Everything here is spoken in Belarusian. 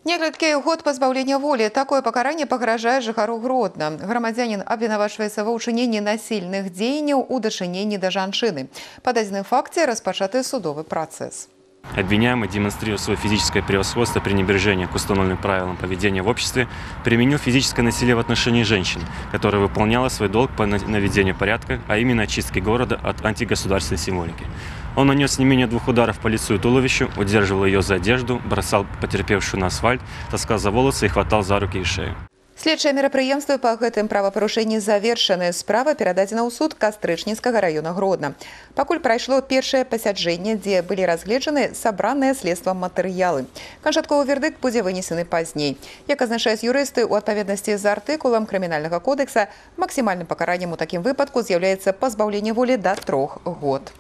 Некалькі год пазбаўлення волі. Такое пакаранне пагражае жыхару Гродна. Грамадзянін абвінавачваецца ва ўчыненні насільных дзеянняў у дачыненні да жанчыны. Па дадзеным факце распачаты судовы працэс. Обвиняемый, демонстрируя свое физическое превосходство, пренебрежение к установленным правилам поведения в обществе, применил физическое насилие в отношении женщин, которая выполняла свой долг по наведению порядка, а именно очистке города от антигосударственной символики. Он нанес не менее 2 ударов по лицу и туловищу, удерживал ее за одежду, бросал потерпевшую на асфальт, таскал за волосы и хватал за руки и шею. Следчыя мерапрыемствы па гэтым правапарушэнні завершаны. Справа перададзена ў суд Кастрычніцкага раёна Гродна. Пакуль прайшло першае пасяджэнне, дзе былі разгледжаны сабраныя следствам матэрыялы. Канчатковы вердыкт будзе вынесены пазней. Як азначаюць юрысты, у адпаведнасці з артыкулам крымінальнага кодэкса максімальным пакараннем у такім выпадку з'яўляецца пазбаўленне волі да 3 год.